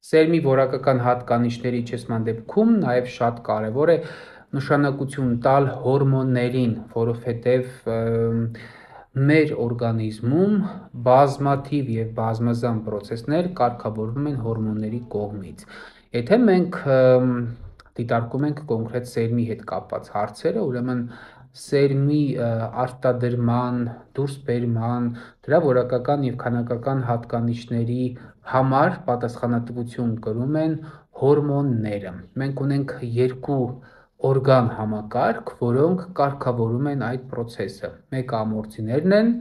Սերմի որակական հատկանիշների իջեցման դեպքում նաև շատ կարևոր է նշանակություն տալ հորմոններին, որովհետև մեր օրգանիզմում բազմաթիվ և բազմազան պրոցեսներ կարգավորվում են հորմոնների կողմից։ Եթե մենք դիտարկում ենք կոնկրետ սերմի հետ կապված հարցերը, ուրեմն սերմի արտադրման, դուրսբերման, դրա որակական և քանակական հատկանիշների համար պատասխանատվություն կրում են հորմոնները։ Մենք ունենք երկու օրգան համակարգ, որոնք կարգավորում են այդ պրոցեսը։ Մեկը ամորձիներն են,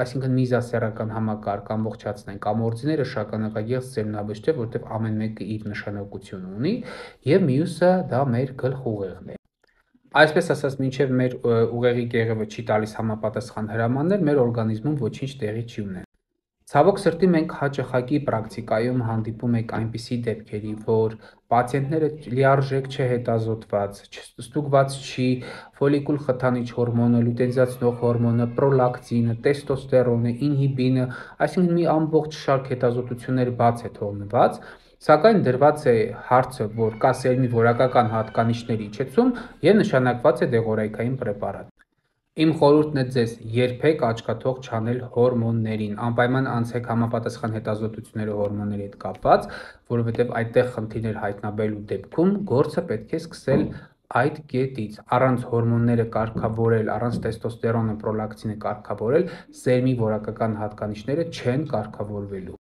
այսինքն միզասեռական համակարգ ամբողջացնենք ամորձիները, շագանակագեղձ, սերմնաբջիջ, որտեղ ամեն մեկը իր նշանակություն ունի, և մյուսը դա մեր գլխուղեղն է։ Այսպես ասած, մինչև մեր ուղեղի կեղևը չի տալիս համապատասխան հրամաններ, մեր օրգանիզմում ոչինչ տեղի չի ունենում։ Ցավոք սրտի մենք հաճախակի պրակտիկայում հանդիպում ենք այնպիսի դեպքերի, որ պացիենտները լիարժեք չհետազոտված, ստուգված չի ֆոլիկուլ խթանիչ հորմոնը, լյուտենզիացնող հորմոնը, պրոլակտինը, տեստոստերոնը, ինհիբինը, այսինքն մի ամբողջ շարք հետազոտություններ բաց է թողնված, սակայն դրված է հարցը, որ կա սերմի որակական հատկանիշների իջեցում և նշանակված է դեղորայքային պրեպարատ։ Իմ խորհուրդն է ձեզ երբեք աչքաթող չանել հորմոններին, անպայման անցեք համապատասխան հետազոտությունները հորմոնների հետ կապված, որովհետև այդտեղ խնդիրներ հայտնաբերելու դեպքում գործը պետք է սկսել այդ կետից։ Առանց հորմոնները կարգավորել, առանց տեստոստերոնը, պրոլակտինը կարգավորել, սերմի որակական հատկանիշները չեն կարգավորվելու։